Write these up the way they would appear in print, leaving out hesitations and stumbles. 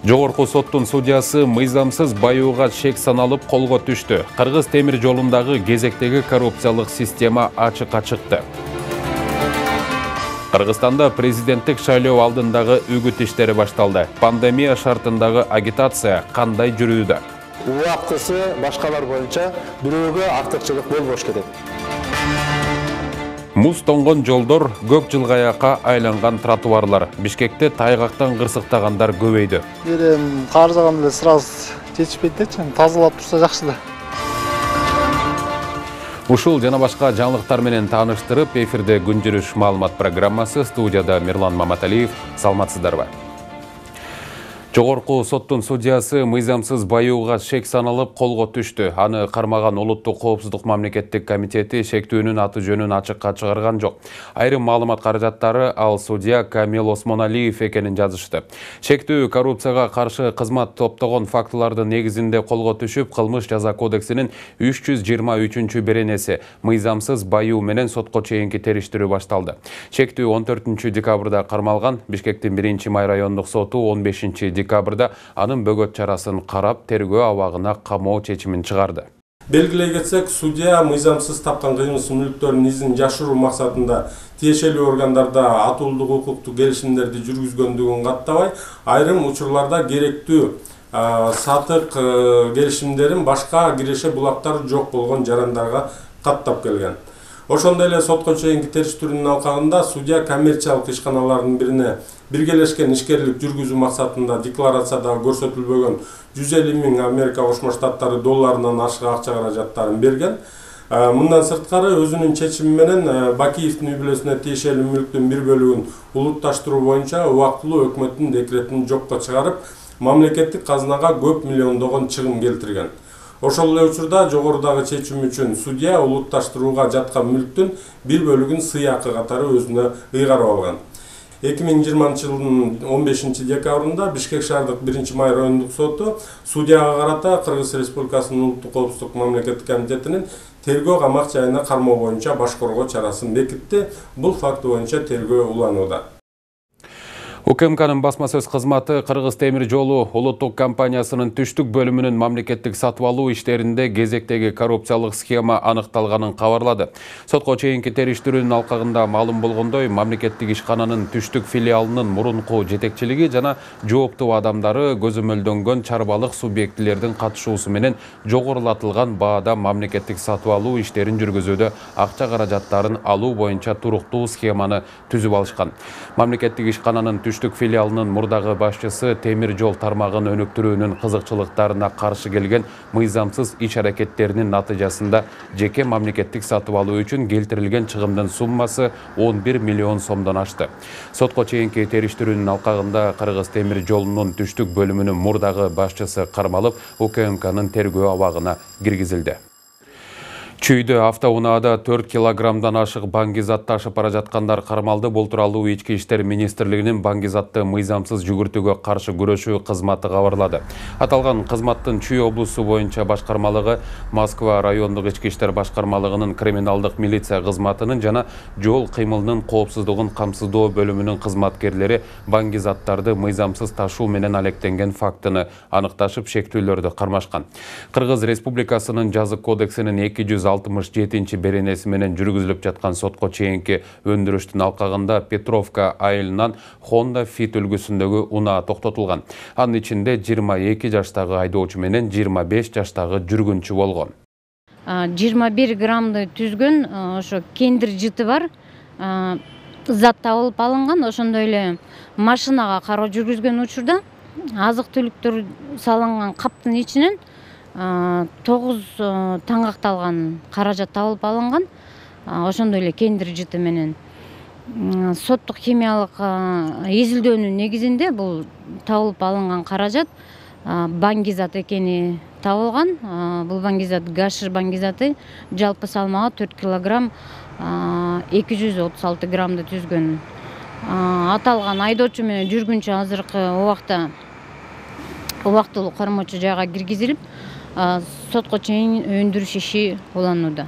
Жогорку соттун судьясы мыйзамсыз баюуга шек саналып колго түштү. Кыргыз темир жолундагы кезектеги коррупциялык система ачыкка чыкты. Кыргызстанда президенттик шайлоо алдындагы үгүт иштери башталды. Пандемия шартындагы агитация кандай жүрүүдө? Убактысы башкалар боюнча бирөөгө артыкчылык болбош керек. Муз тонгон жолдор, көк жылгаяка айланган тротуарлар. Бишкекте тайгактан кырсыктагандар көбөйдү. Каржаган эле сразу жетишпейт дечи, тазалап турса жакшы да. Ушул жана башка жаңылыктар менен тааныштырып, эфирде күн жүрүш маалымат программасы, студияда Мирлан Маматалиев. Саламатсыздарбы? Жогорку соттун судьясы мыйзамсыз баюуга шек саналып колго түштү. Аны кармаган Улуттук коопсуздук мамлекеттик комитети шектүүнүн аты жөнүн ачыкка чыгарган жок. Айрым маалымат каражаттары ал судья Камил Осмоналиев экенин жазышты. Шектүү коррупцияга каршы кызмат топтогон фактылардын негизинде колго түшүп, кылмыш жаза кодексинин 323 беренеси мыйзамсыз баюу менен сотко чейинки териштирүү башталды. Шектүү 14 декабрда кармалган. Бишкектин 1-май райондук соту 15 декабрда анын бөгөт чарасын карап, тергөө абагына камоо чечимин чыгарды. Белгилей кетсек, судья мыйзамсыз тапкан кыймылсыз мүлктөрдүн изин жашыруу максатында тиешелүү органдарда атуулдук укуктук келишимдерди жүргүзгөндүгүн каттабай, айрым учурларда керектүү сатык келишимдерин башка киреше булактары жок болгон жарандарга каттап келген. Ошондой эле сотко чейинки териштирүүнүн алкагында судья коммерциялык ишканалардын бирине биргелешкен ишкерлик жүргүзүү максатында декларацияда көрсөтүлбөгөн 150 000 Америка Кошмо Штаттары долларынан ашык акча каражаттарын берген. Мындан сырткары өзүнүн чечими менен Бакиевдин үй бүлөсүнө тиешелүү мүлктүн бир бөлүгүн улутташтыруу боюнча убактылуу өкмөттүн декретин жокко чыгарып, мамлекеттик казынага көп миллиондогон чыгым келтирген. Ошол эле учурда жогорудагы чечим үчүн судья улутташтырууга жаткан мүлктүн бир бөлүгүн сыйакы катары өзүнө ыйгарып алган. 2020 жылдын 15 декабрында Бишкек шаардык 1-май райондук соту судьяга карата Кыргыз Республикасынын Улуттук коопсуздук мамлекеттик комитетинин тергөө камак жайына кармоо боюнча баш коргоо чарасын бекитти. Бул факты боюнча тергөө уланууда. УКМКнын басма сөз кызматы Кыргыз темир жолу улуттук компаниясынын түштүк бөлүмүнүн мамлекеттик сатып алуу иштеринде кезектеги коррупциялык схема аныкталганын кабарлады. Сотко чейинки териштирүүнүн алкагында маалым болгондой, мамлекеттик ишкананын түштүк филиалынын мурунку жетекчилиги жана жооптуу адамдары көзөмөлдөнгөн чарбалык субъектилердин катышуусу менен жогорулатылган баада мамлекеттик сатып алуу иштерин жүргүзүүдө акча каражаттарын алуу боюнча туруктуу схеманы түзүп алышкан. Мамлекеттик ишкананын түштүк филиалынын мурдагы башчысы темир жол тармагын өнүктүрүүнүн кызыкчылыктарына каршы келген мыйзамсыз иш аракеттеринин натыйжасында жеке мамлекеттик сатып алуу үчүн келтирилген чыгымдын суммасы 11 миллион сомдон ашты. Сотко чейинки териштирүүнүн алкагында Кыргыз темир жолунун түштүк бөлүмүнүн мурдагы башчысы кармалып, УКМКнын тергөө абагына киргизилди. Чүйдө автоунаада 4 килограммдан ашык баңгизат ташып бара жаткандар кармалды. Бул тууралуу Ички иштер министрлигинин баңгизатты мыйзамсыз жүгүртүүгө каршы күрөшүү кызматы кабарлады. Аталган кызматтын Чүй облусу боюнча башкармалыгы, Москва райондук ички иштер башкармалыгынын криминалдык милиция кызматынын жана жол кыймылынын коопсуздугун камсыздоо бөлүмүнүн кызматкерлери баңгизаттарды мыйзамсыз ташуу менен алектенген фактыны аныкташып, шектүүлөрдү кармашкан. Кыргыз Республикасынын жазык кодексинин 267 беренеси менен жүргүзүлүп жаткан сотко чейинки өндүрүштүн алкагында Петровка айылынан Honda Fit үлгүсүндөгү унаа токтотулган. Анын ичинде 22 жаштагы айдоочу менен 25 жаштагы жүргүнчү болгон. 21 граммды түзгөн ошо кендир жыты бар зат табылып алынган. Ошондой эле машинага кароо жүргүзгөн учурда азык түлүктөр салынган каптын ичинен 9 таңгакталган каражат табылып алынган. Ошондой эле кендир жыты менен соттук химиялык изилдөөнүн негизинде бул табылып алынган каражат баңгизат экени табылган. Бул баңгизат гашиш баңгизаты, жалпы салмагы 4 килограмм 236 граммды түзгөн аталган айдоочу менен жүргүнчү азыркы убактылуу кармоочу жайга киргизилип, сотко чейин өндүрүш иши уланууда.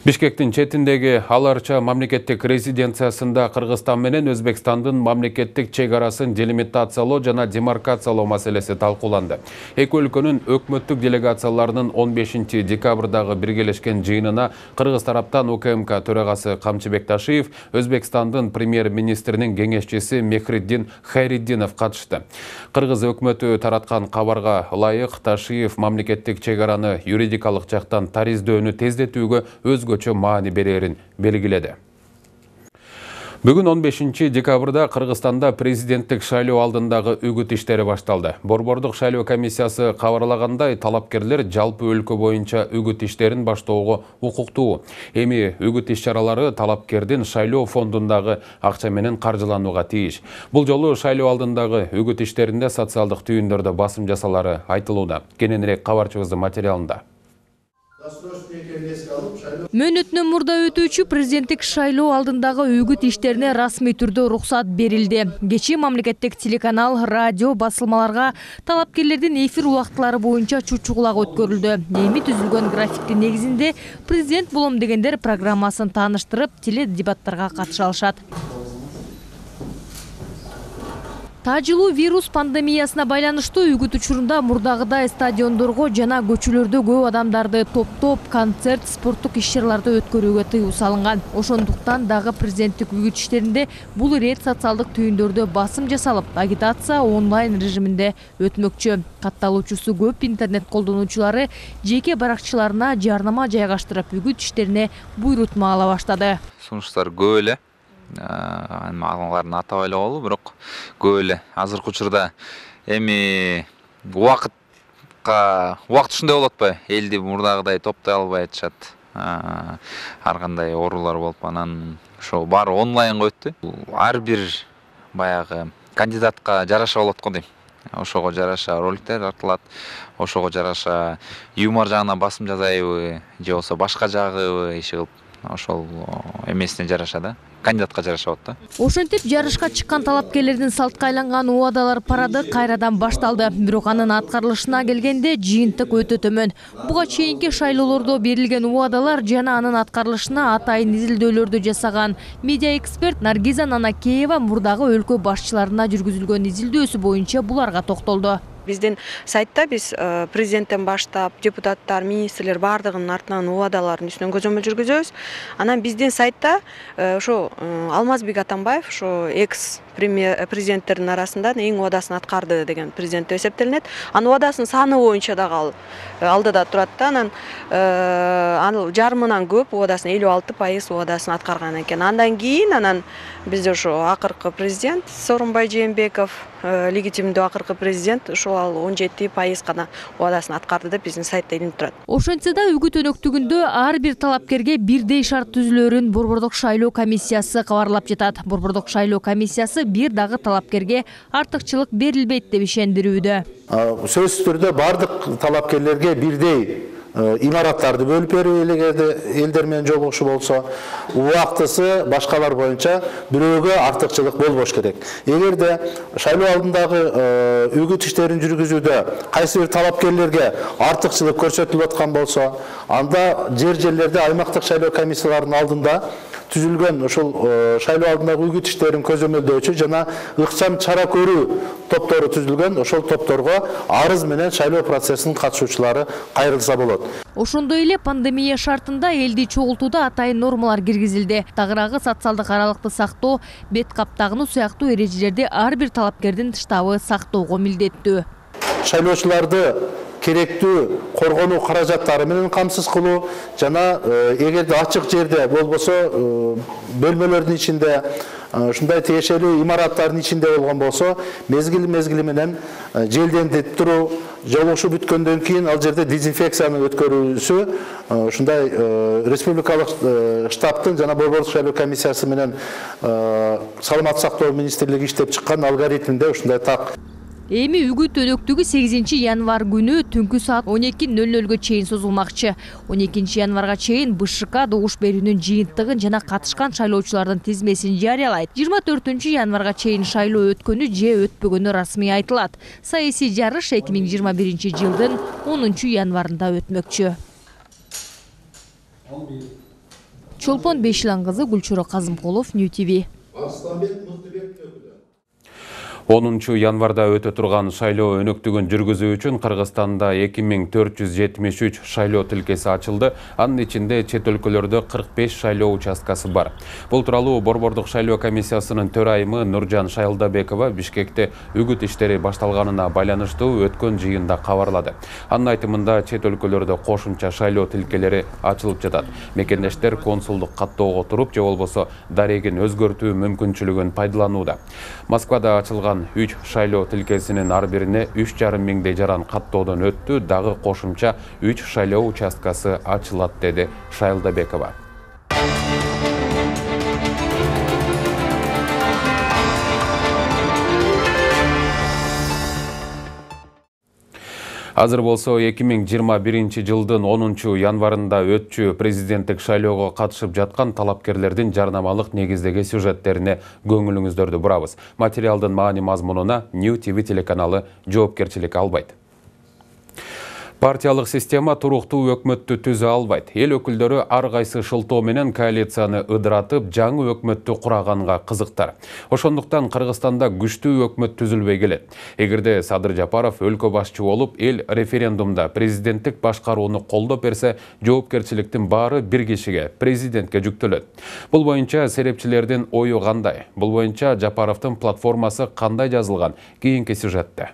Бишкектин четиндеги Аларча мамлекеттик резиденциясында Кыргызстан менен Өзбекстандын мамлекеттик чек арасын делимитациялоо жана демаркациялоо маселеси талкууланды. Эки өлкөнүн өкмөттүк делегацияларынын 15 декабрдагы биргелешкен жыйынына Кыргыз тараптан УКМК төрагасы Камчыбек Ташиев, Өзбекстандын премьер-министринин кеңешчиси Мехриддин Хайриддинов катышты. Кыргыз өкмөтү тараткан кабарга ылайык Ташиев мамлекеттик чек араны юридикалык жактан тариздөөнү тездетүүгө өзгөчө маани берерин белгиледи. Бүгүн 15 декабрда Кыргызстанда президенттик шайлоо алдындагы үгүт иштери башталды. Борбордук шайлоо комиссиясы кабарлагандай, талапкерлер жалпы өлкө боюнча үгүт иштерин баштоого укуктуу. Эми үгүт иш-чаралары талапкердин шайлоо фондундагы акча менен каржыланууга тийиш. Бул жолу шайлоо алдындагы үгүт иштеринде социалдык түйүндөрдө басым жасалары айтылууда. Кененирээк кабарчыбыздын материалында. Мөөнөтүнөн мурда өтүүчү президенттик шайлоо алдындагы үгүт иштерине расмий түрдө уруксат берилди. Кечээ мамлекеттик телеканал, радио басылмаларга талапкерлердин эфир убактылары боюнча чучугулак өткөрүлдү. Эми түзүлгөн графиктин негизинде президент болом дегендер программасын тааныштырып, теледебаттарга катыша алышат. Тажылуу вирус пандемиясына байланыштуу үгүт учурунда мурдагыдай стадиондорго жана көчөлөрдө көп адамдарды топтоп, концерт, спорттук иш-чараларды өткөрүүгө тыюу салынган. Ошондуктан дагы президенттик үгүт иштеринде бул ирет социалдык түйүндөрдө басым жасалып, агитация онлайн режиминде өтмөкчү. Катталуучусу көп интернет колдонуучулары жеке баракчаларына жарнама жайгаштырып, үгүт иштерине буйрутма ала баштады. Сунуштар көп эле. Алардын атап эле бирок көп эле. Азыркы учурда эми убакыт ушундай болуп атпайбы? Элди мурдагыдай топтой албай атышат. Ар кандай оорулар болуп, анан ошо баары онлайнга өттү. Ар бир баягы кандидатка жараша болот го дейм. Ошого жараша роликтер тартылат, ошого жараша юмор жагынан басым жасайбы, же болбосо башка жагыбы иши кылып, ошол эмесине жараша да. Кандидатка жараша болот да. Ошентип жарышка чыккан талапкерлердин салтка айланган убадалар парады кайрадан башталды. Бирок анын аткарылышына келгенде жыйынтык өтө төмөн. Буга чейинки шайлоолордо берилген убадалар жана анын аткарылышына атайын изилдөөлөрдү жасаган медиа эксперт Наргиза Нанакеева мурдагы өлкө башчыларына жүргүзүлгөн изилдөөсү боюнча буларга токтолду. Биздин сайтта биз президенттен баштап депутаттар, министрлер бардыгынын артынан убадалардын үстүнөн көзөмөл жүргүзөбүз. Анан биздин сайтта ошо Алмазбек Атамбаев ошо экс президенттердин арасында эң убадасын аткарды деген президент эсептелинет. Анын убадасынын саны боюнча дагы алдыда турат да. Анан ал жарымынан көп убадасын 56% убадасын аткарган экен. Андан кийин бизде ошо акыркы президент Сооронбай Жээнбеков, легитимдүү акыркы президент, ошо ал 17% гана убадасын аткарды деп биздин сайтта илинип турат. Ошентсе да үгүт өнөктүгүндө ар бир талапкерге бирдей шарт түзүлөрүн Борбордук шайлоо комиссиясы кабарлап жатат. Борбордук шайлоо комиссиясы бир дагы талапкерге артыкчылык берилбейт деп ишендирүүдө. Сөзсүз түрдө бардык талапкерлерге бирдей имараттарды бөлүп берүү элдер менен жолугушуу болсо, убактысы башкалар боюнча бирөөгө артыкчылык болбош керек. Эгерде шайлоо алдындагы үгүт иштерин жүргүзүүдө кайсы бир талапкерлерге артыкчылык көрсөтүлүп аткан болсо, анда жерлерде аймактык шайлоо комиссияларынын алдында түзүлгөн ошол шайлоо алдындагы үгүт иштерин көзөмөлдөөчү жана ыкчам чара көрүү топтору түзүлгөн. Ошол топторго арыз менен шайлоо процессинин катышуучулары кайрылса болот. Ошондой эле пандемия шартында элди чогултууда атайын нормалар киргизилди. Тагыраагы социалдык аралыкты сактоо, бет каптагынуу сыяктуу эрежелерди ар бир талапкердин штабы сактоого милдеттүү. Шайлоочуларды керектүү коргонуу каражаттары менен камсыз кылуу жана эгерде ачык жерде болбосо бөлмөлөрдүн ичинде ушундай тиешелүү имараттардын ичинде болгон болсо, мезгили менен желдентип туруу, жолугушуу бүткөндөн кийин ал жерде дезинфекцияны өткөрүүсү ушундай республикалык штабтын жана Борбордук шайлоо комиссиясы менен саламаттык сактоо министрлиги иштеп чыккан алгоритминде ушундай так. Эми үгүт өнөктүгү 8 январ күнү түнкү саат 12:00 чейин созулмакчы. 12 январга чейин БШК добуш берүүнүн жыйынтыгын жана катышкан шайлоочулардын тизмесин жарыялайт. 24 январга чейин шайлоо өткөнү же өтпөгөнү расмий айтылат. Саясий жарыш 2021 жылдын 10 январында өтмөкчү. Чолпон Бешилан кызы, Гүлчурө Казымкулов, New TV. 10 январда өтө турган шайлоо өнөктүгүн жүргүзүү үчүн Кыргызстанда 2473 шайлоо тилкеси ачылды. Анын ичинде чет өлкөлөрдө 45 шайлоо участкасы бар. Бул тууралуу Борбордук шайлоо комиссиясынын төрайымы Нуржан Шайлдабекова Бишкекте үгүт иштери башталганына байланыштуу өткөн жыйында кабарлады. Анын айтымында чет өлкөлөрдө кошумча шайлоо тилкелери ачылып жатат. Мекендештер консулдук каттоого туруп, же болбосо дарегин өзгөртүү мүмкүнчүлүгүн пайдаланууда. Москвада ачылган 3 шайлоо тилкесинин ар бирине 3,5 миңдей жаран каттоодон өттү, дагы кошумча 3 шайлоо участкасы ачылат, деди Шайлдабекова. Азыр болсо 2021 жылдын 10 январында өтчү президенттик шайлоого катышып жаткан талапкерлердин жарнамалык негиздеги сюжеттерине көңүлүңүздөрдү бурабыз. Материалдын маани мазмунуна New TV телеканалы жоопкерчилик албайт. Партиялык система туруктуу өкмөттү түзө албайт. Эл өкүлдөрү ар кайсы шылтоо менен коалицияны ыдыратып, жаңы өкмөттү кураганга кызыктар. Ошондуктан Кыргызстанда күчтүү өкмөт түзүлбөй келет. Эгерде Садыр Жапаров өлкө башчы болуп, эл референдумда президенттик башкарууну колдоп берсе, жоопкерчиликтин баары бир кишиге, президентке жүктөлөт. Бул боюнча серепчилердин ою кандай? Бул боюнча Жапаровдун платформасы кандай жазылган? Кийинки сюжетте.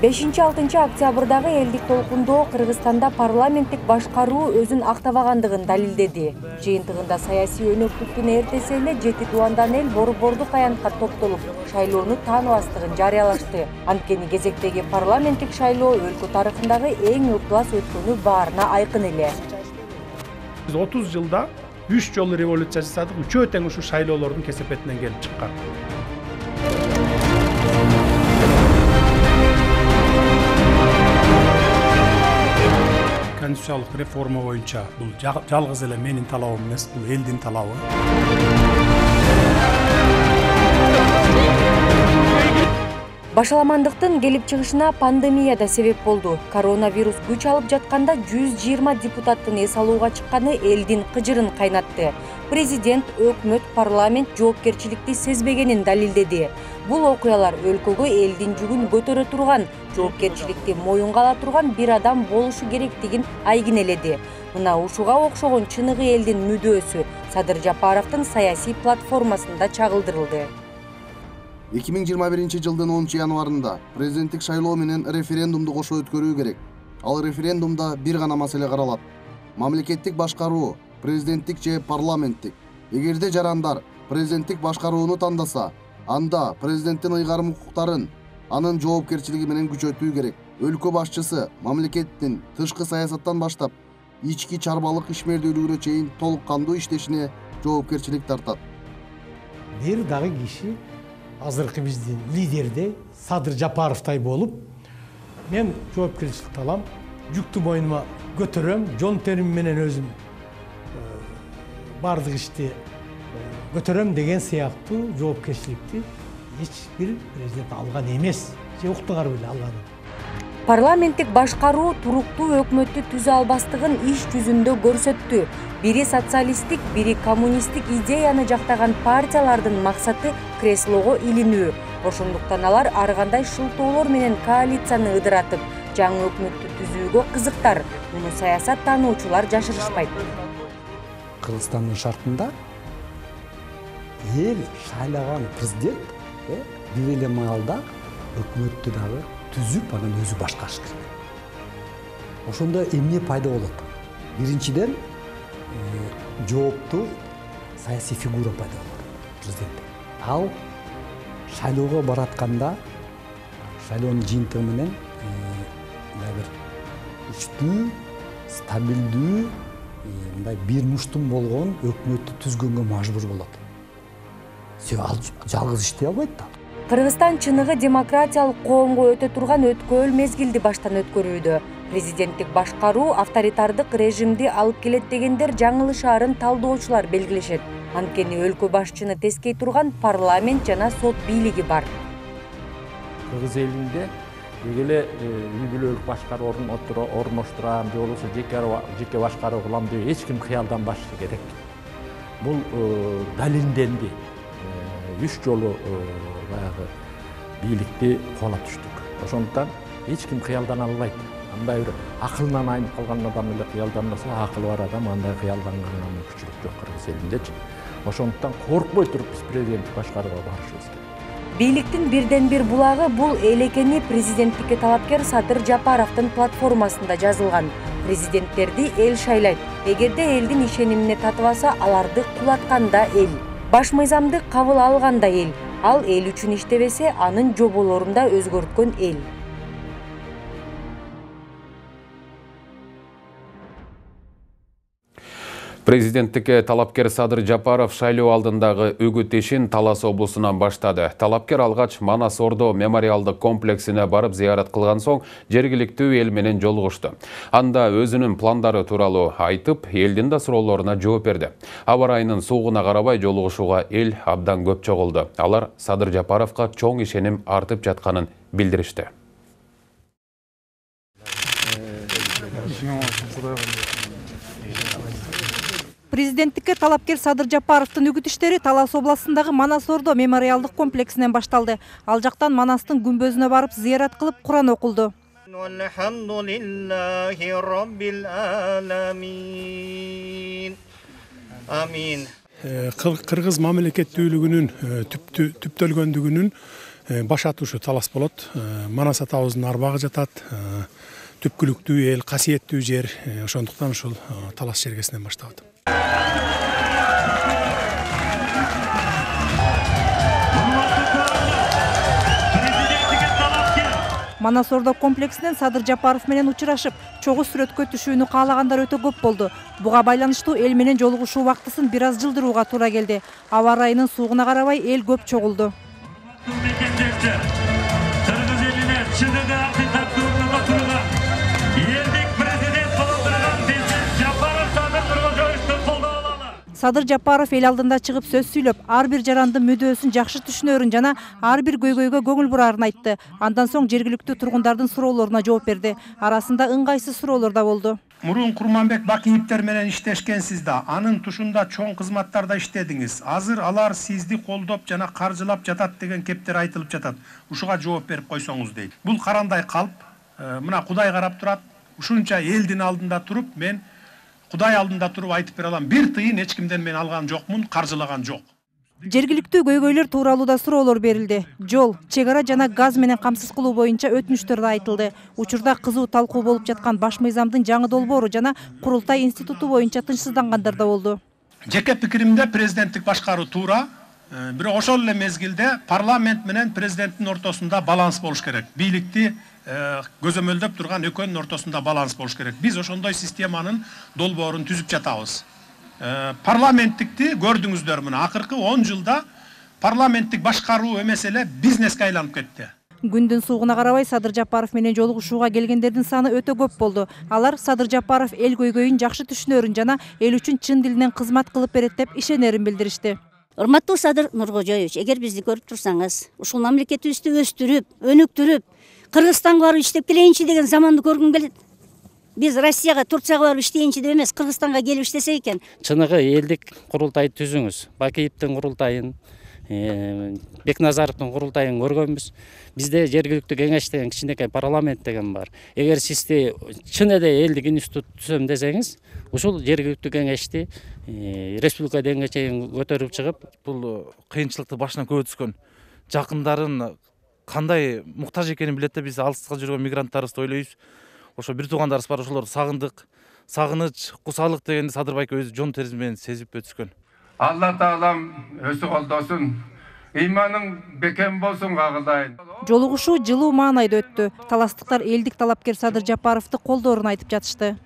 Бешинчи 6 октябрдагы элдик толкундоо Кыргызстанда парламенттик башкаруу өзүн актабагандыгын далилдеди. Жыйынтыгында саясий өнөктүктүн эртеси эле 7 дубандан эл борбордук аянтка топтолуп, шайлоону тааныбастыгын жарыялашты. Анткени кезектеги парламенттик шайлоо өлкө тарыхындагы эң ыплас өткөнү баарына айкын эле. Биз 30 жылда 3 жолу революция жасадык, үчөө тең ушу шайлоолордун кесепетинен келип чыккан. Конституциялык реформа боюнча бул жалгыз эле менин талабым эмес, бул элдин талабы. Башаламандыктын келип чыгышына пандемия да себеп болду. Коронавирус күч алып жатканда 120 депутаттын эс алууга чыкканы элдин кыжырын кайнатты. Президент, өкмөт, парламент жоопкерчиликти сезбегенин далилдеди. Бул окуялар өлкөгө элдин жүгүн көтөрө турган, жоопкерчиликти моюнга ала турган бир адам болушу керектигин айгинеледи. Мына ушуга окшогон чыныгы элдин мүдөөсү Садыр Жапаровдун саясий платформасында чагылдырылды. 2021 жылдын 10 январында президенттик шайлоо менен референдумду кошо өткөрүү керек. Ал референдумда бир гана маселе каралат. Мамлекеттик башкаруу, президенттик же парламенттик. Эгерде жарандар президенттик башкарууну тандаса, анда президенттин ыйгарым укуктарын, анын жоопкерчилиги менен күчөтүү керек. Өлкө башчысы мамлекеттин тышкы саясаттан баштап, ички чарбалык ишмердүүлүгүнө чейин толук кандуу иштешине жоопкерчилик тартат. Бир дагы киши азыркы биздин лидердей Садыр Жапаровдай болуп, мен жоопкерчиликти алам, жүктү мойнума көтөрөм, жон терим менен өзүм бардык ишти көтөрөм деген сыяктуу жоопкерчиликти эч бир президент алган эмес, же уктугар беле алган. Парламенттик башкаруу туруктуу өкмөттү түзө албастыгын иш жүзүндө көрсөттү. Бири социалисттик, бири коммунисттик идеяны жактаган партиялардын максаты креслого илинүү. Ошондуктан алар ар кандай шылтоолор менен коалицияны ыдыратып, жаңы өкмөттү түзүүгө кызыктар. Муну саясат таануучулар жашырышпайт. Кыргызстандын шартында эл шайлаган президент бир эле маалда өкмөттү дагы түзүп, анан өзү башкарыш керек. Ошондо эмне пайда болот? Биринчиден жооптуу саясий фигура пайда болот президент. Ал шайлоого баратканда шайлоонун жыйынтыгы менен бир күчтүү, стабилдүү, мындай бир муштум болгон өкмөттү түзгөнгө мажбур болот. Себеби ал жалгыз иштей албайт да. Кыргызстан чыныгы демократиялык коомго өтө турган өткөөл мезгилди баштан өткөрүүдө. Президенттик башкаруу авторитардык режимди алып келет дегендер жаңылышаарын талдоочулар белгилешет. Анткени өлкө башчыны тескей турган парламент жана сот бийлиги бар. Кыргыз элинде эле үй бүлөлүк башкаруу орноштурам же болбосо жеке башкаруу кылам деп эч ким кыялданбашы керек. Бул далилденди. 3 жолу баягы бийликти куулап түштүк. Ошондуктан эч ким кыялдана албайт. Андай бир акылынан айнып калган адам эле кыялданбаса, акылы бар адам андай кыялданганга мүмкүнчүлүк жок Кыргыз элиндечи. Ошондуктан коркпой туруп биз президенттик башкарууга барышыбыз керек. Бийликтин бирден бир булагы бул эл экени президенттикке талапкер Садыр Жапаровдун платформасында жазылган. Президенттерди эл шайлайт. Эгерде элдин ишенимине татыбаса, аларды кулатканда эл. Баш мыйзамды кабыл алганда эл. Ал эл үчүн иштебесе, анын жоболорун да өзгөрткөн эл. Президенттикке талапкер Садыр Жапаров шайлоо алдындагы үгүт ишин Талас облусунан баштады. Талапкер алгач Манас Ордо мемориалдык комплексине барып зыярат кылган соң жергиликтүү эл менен жолугушту. Анда өзүнүн пландары тууралуу айтып, элдин да суроолоруна жооп берди. Аба ырайынын суугуна карабай жолугушууга эл абдан көп чогулду. Алар Садыр Жапаровго чоң ишеним артып жатканын билдиришти. Президенттикке талапкер Садыр Жапаровдун үгүт иштери Талас областындагы Манас Ордо мемориалдык комплексинен башталды. Ал жактан Манастын күмбөзүнө барып зыярат кылып Куран окулду. Кыргыз мамлекеттүүлүгүнүн түптөлгөндүгүнүн баш атушу Талас болот. Манас атабыздын арбагы жатат. Түпкүлүктүү эл, касиеттүү жер. Ошондуктан ушул Талас жергесинен башталды. Манас Ордо комплексинен Садыр Жапаров менен учурашып, чогуу сүрөткө түшүүнү каалагандар өтө көп болду. Буга байланыштуу эл менен жолугушуу убактысын бир аз жылдырууга туура келди. Аба ырайынын суугуна карабай эл көп чогулду. Садыр Жапаров эл алдында чыгып сөз сүйлөп, ар бир жарандын мүдөөсүн жакшы түшүнөрүн жана ар бир көйгөйгө көңүл бурарын айтты. Андан соң жергиликтүү тургундардын суроолоруна жооп берди. Арасында ыңгайсыз суроолор да болду. Мурун Курманбек Бакиевтер менен иштешкенсиз да, анын тушунда чоң кызматтарда иштедиңиз. Азыр алар сизди колдоп жана каржылап жатат деген кептер айтылып жатат. Ушуга жооп берип койсоңуз дейт. Бул карандай калп, мына Кудай карап турат. Ушунча элдин алдында туруп, мен Кудай алдында туруп айтып бере алам. Бир тыйын эч кимден мен алган жокмун, каржылаган жок. Жергиликтүү көйгөйлөр тууралуу да суроолор берилди. Жол, чек ара жана газ менен камсыз кылуу боюнча өтүнүчтөр да айтылды. Учурда кызуу талкуу болуп жаткан баш мыйзамдын жаңы долбоору жана курултай институту боюнча тынчсыздангандар да болду. Жеке пикиримде президенттик башкаруу туура, бирок ошол эле мезгилде парламент менен президенттин ортосунда баланс болуш керек. Бийликти көзөмөлдөп турган экөөнүн ортосунда баланс болуш керек. Биз ошондой системанын долбоорун түзүп жатабыз. Парламенттикти көрдүңүздөр, мына акыркы 10 жылда парламенттик башкаруу эмес эле бизнеске айланып кетти. Күндүн суугуна карабай Садыр Жапаров менен жолугушууга келгендердин саны өтө көп болду. Алар Садыр Жапаров эл көйгөйүн жакшы түшүнөрүн жана эл үчүн чын дилинен кызмат кылып берет деп ишенерин билдиришти. Урматтуу Садыр Нуркожоевич, эгер бизди көрүп турсаңыз, ушул мамлекетибизди өстүрүп, өнүктүрүп, Кыргызстанга барып иштеп келейинчи деген заманды көргүм келет. Биз Россияга, Турцияга барып иштейинчи деп эмес, Кыргызстанга келип иштесек экен. Чыныгы элдик курултай түзүңүз. Бакиевдин курултайын, Бекназаровдун курултайын көргөнбүз. Бизде жергиликтүү кеңеш деген кичинекей парламент деген бар. Эгер сизди чын эле элдик институт түзөм десеңиз, ушул жергиликтүү кеңешти республика деңгээлге чейин көтөрүп чыгып, бул кыйынчылыкты башынан көп өткөн жакындарын кандай муктаж экенин билет да, биз алыска жүргөн мигранттарыбызды ойлойбуз. Ошо бир туугандарыбыз бар, ошолорду сагындык, сагыныч, кусалык дегенди Садыр байке өзү жон терisi менен сезип өтүшкөн. Алла таалам өзү колдосун. ыйманың бекем болсун кагылдайын. Жолугушуу жылуу маанайда өттү. Таластыктар элдик талапкер Садыр Жапаровду колдоорун айтып жатышты.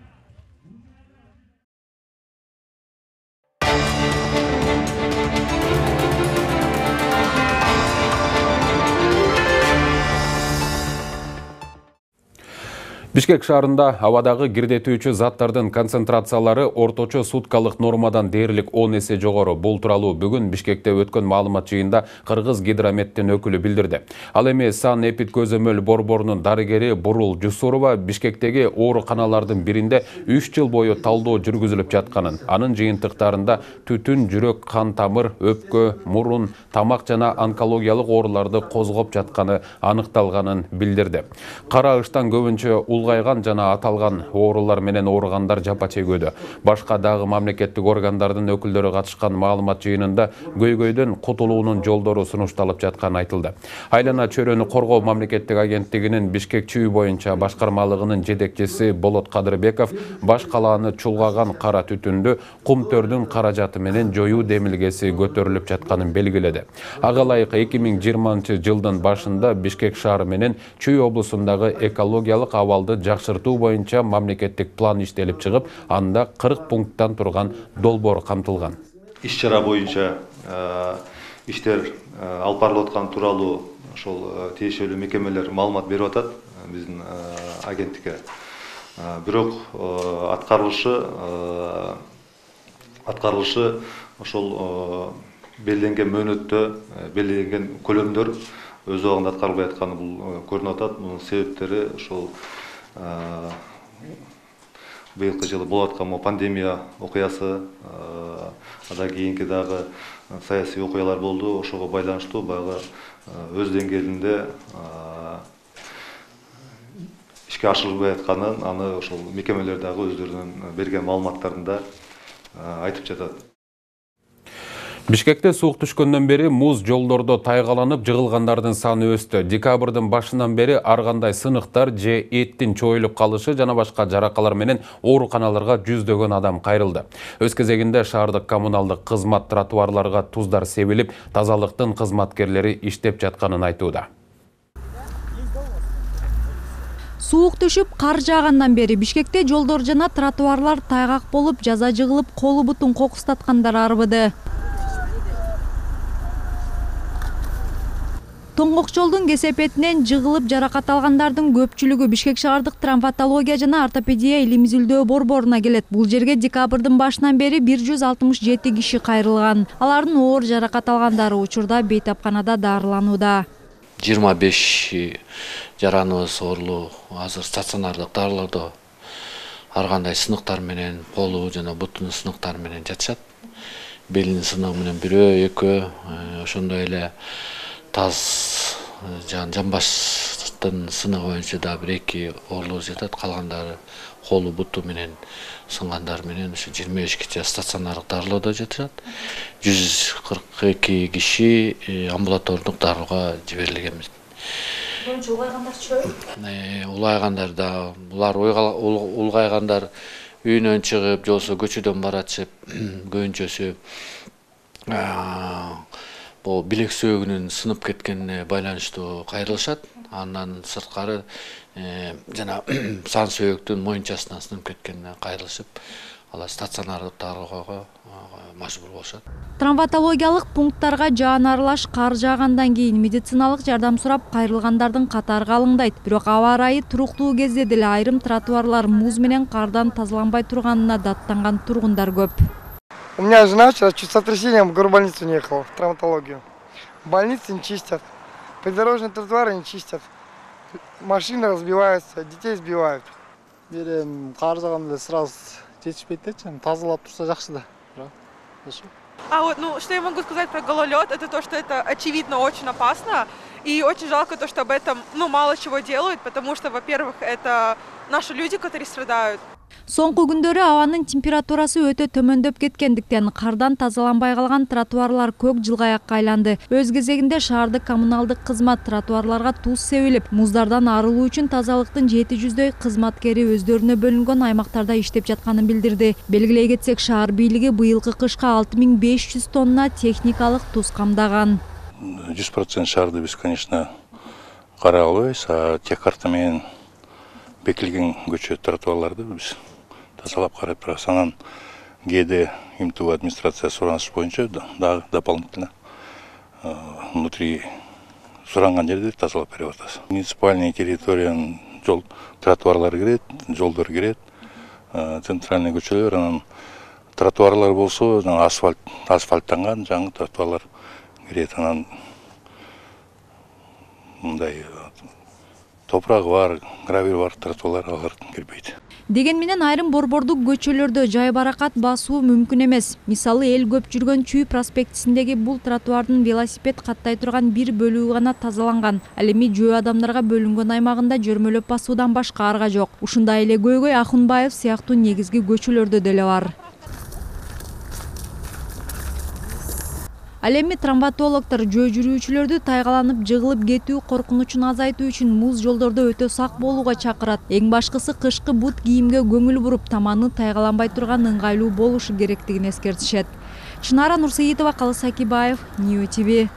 Бишкек шаарында абадагы кирдетүүчү заттардын концентрациялары орточо суткалык нормадан дээрлик 10 эсе жогору. Бул тууралуу бүгүн Бишкекте өткөн маалымат жыйында Кыргыз гидрометтин өкүлү билдирди. Ал эми Сан Эпид көзөмөл борборунун дарыгери Бурул Жусурова Бишкектеги ооруканалардын биринде 3 жыл бою талдоо жүргүзүлүп жатканын, анын жыйынтыктарында түтүн, жүрөк, кан тамыр, өпкө, мурун, тамак жана онкологиялык ооруларды козгоп жатканы аныкталганын билдирди. Кара ыштан көбүнчө улгайган жана аталган оорулар менен ооругандар жапа чегүүдө. Башка дагы мамлекеттик органдардын өкүлдөрү катышкан маалымат жыйынында көйгөйдөн кутулуунун жолдору сунушталып жатканы айтылды. Айлана чөйрөнү коргоо мамлекеттик агенттигинин Бишкек чүй боюнча башкармалыгынын жетекчиси Болот Кадырбеков баш калааны чулгаган кара түтүндү кумтөрдүн каражаты менен жоюу демилгеси көтөрүлүп жатканын белгиледи. Ага ылайык 2020-жылдын башында Бишкек шаары менен Чүй облусундагы экологиялык абалды жакшыртуу боюнча мамлекеттик план иштелип чыгып, анда 40 пункттан турган долбоор камтылган. Иш-чара боюнча иштер алып барылып аткан тууралуу ошол тиешелүү мекемелер маалымат берип атат биздин агенттикке. Бирок аткарылышы ошол белгиленген мөөнөттө, белгиленген көлөмдөр өз убагында аткарылбай атканы бул көрүнүп атат. Мунун себептери ошол быйылкы жылы болуп аткан пандемия окуясы, андан кийинки дагы саясий окуялар болду. Ошого байланыштуу баягы өз деңгээлинде ишке ашырылбай атканын, аны ошол мекемелер дагы өздөрүнүн берген маалыматтарында айтып жатат. Бишкекте суук түшкөндөн бери муз жолдордо тайгаланып жыгылгандардын саны өстү. Декабрдын башынан бери ар кандай сыныктар же эттин чоюлуп калышы жана башка жаракалар менен ооруканаларга жүздөгөн адам кайрылды. Өз кезегинде шаардык коммуналдык кызмат тротуарларга туздар себилип, тазалыктын кызматкерлери иштеп жатканын айтууда. Суук түшүп, кар жаагандан бери Бишкекте жолдор жана тротуарлар тайгак болуп, жаза жыгылып, колу бутун кокустаткандар арбыды. Тоңгок жолдун кесепетинен жыгылып жаракат алгандардын көпчүлүгү Бишкек шаардык травматология жана ортопедия илим-изилдөө борборуна келет. Бул жерге декабрдын башынан бери 167 киши кайрылган. Алардын оор жаракат алгандары учурда бейтапканада дарыланууда. 25 жараныбыз оорлуу азыр стационардык дарылоодо ар кандай сыныктар менен, колу жана бутунун сыныктары менен жатышат. Белинин сыныгы менен бирөө, экөө, ошондой эле таз жамбаштын сыныгы боюнча да 1-2 оорлуу жатат. Калгандары колу буту менен сынгандар менен ушу 25 киши стационардык дарылоодо жатышат. 142 киши амбулатордук дарылоого жиберилген. Улайгандар да, булар улгайгандар үйүнөн чыгып, же болбосо көчөдөн баратышып, көбүнчөсү бул билек сөөгүнүн сынып кеткенине байланыштуу кайрылышат. Андан сырткары жана сан сөөктүн моюнчасынан сынып кеткенине кайрылышып, алар стационардык дарылоого мажбур болушат. Травматологиялык пункттарга жаан аралаш кар жаагандан кийин медициналык жардам сурап кайрылгандардын катары калыңдайт. Бирок аба ырайы туруктуу кезде деле айрым тротуарлар муз менен кардан тазаланбай турганына даттанган тургундар көп. У меня жена вчера чуть сотрясением в горбольницу не ехала, в травматологию. Больницы не чистят, придорожные тротуары не чистят. Машины разбиваются, детей сбивают. Берем кар жааганда сразу жетишпейт да, тазалап турса жакшы да. Что я могу сказать про гололед, это то, что это очевидно очень опасно. И очень жалко то, что об этом мало чего делают, потому что, во-первых, это наши люди, которые страдают. Соңку күндөрү абанын температурасы өтө төмөндөп кеткендиктен кардан тазаланбай калган тротуарлар көк жылгаякка айланды. Өз кезегинде шаардык коммуналдык кызмат тротуарларга туз себилип, муздардан арылуу үчүн тазалыктын 700дөй кызматкери өздөрүнө бөлүнгөн аймактарда иштеп жатканын билдирди. Белгилей кетсек, шаар бийлиги быйылкы кышка 6500 тонна техникалык туз камдаган. 100% шаарды биз, конечно, карай албайбыз, а тех карта менен бекилген көчө тротуарларды биз тазалап карап турабыз. Анан ГД МТУ администрация сураныш боюнча дагы дополнительно внутри суранган жерди тазалап берип атабыз. Муниципальный территориянын тротуарлары кирет, жолдор кирет, центральный көчөлөр, анан тротуарлар болсо асфальттанган жаңы тротуарлар кирет. Анан мындай топурагы бар, гравий бар тротуарлар алар кирбейт. Деген менен айрым борбордук көчөлөрдө жай баракат басуу мүмкүн эмес. Мисалы, эл көп жүргөн Чүй проспектисиндеги бул тротуардын велосипед каттай турган бир бөлүгү гана тазаланган. Ал эми жөө адамдарга бөлүнгөн аймагында жөрмөлөп басуудан башка арга жок. Ушундай эле Көйгөй, Акунбаев сыяктуу негизги көчөлөрдө деле бар. Ал эми травматологдор жөө жүрүүчүлөрдү тайгаланып жыгылып кетүү коркунучун азайтуу үчүн муз жолдордо өтө сак болууга чакырат. Эң башкысы кышкы бут кийимге көңүл буруп, таманы тайгаланбай турган ыңгайлуу болушу керектигин эскертишет. Чынара Нурсейитова, Калыс Акибаев, Нью ТВ.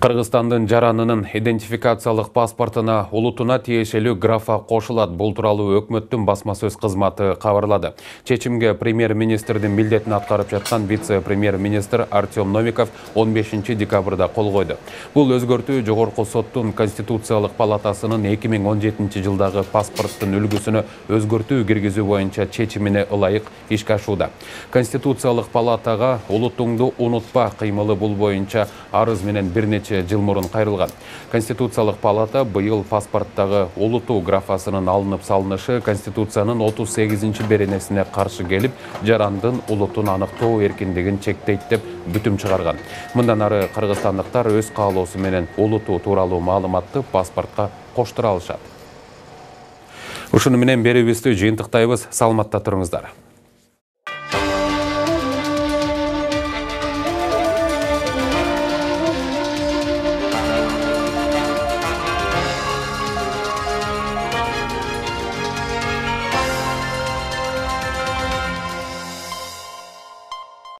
Кыргызстандын жаранынын идентификациялык паспортуна улутуна тиешелүү графа кошулат. Бул тууралуу өкмөттүн басма сөз кызматы кабарлады. Чечимге премьер-министрдин милдетин аткарып жаткан вице-премьер-министр Артем Новиков 15 декабрда кол койду. Бул өзгөртүү Жогорку соттун Конституциялык палатасынын 2017 жылдагы паспорттун үлгүсүнө өзгөртүү киргизүү боюнча чечимине ылайык ишке ашууда. Конституциялык палатага улутуңду унутпа кыймылы бул боюнча арыз менен бир нече жыл мурун кайрылган. Конституциялык палата быйыл паспорттагы улутуу графасынын алынып салынышы Конституциянын 38 беренесине каршы келип, жарандын улутун аныктоо эркиндигин чектейт деп бүтүм чыгарган. Мындан ары кыргызстандыктар өз каалоосу менен улутуу тууралуу маалыматты паспортко коштура алышат. Ушуну менен берүүбүздү жыйынтыктайбыз. Саламатта туруңуздар.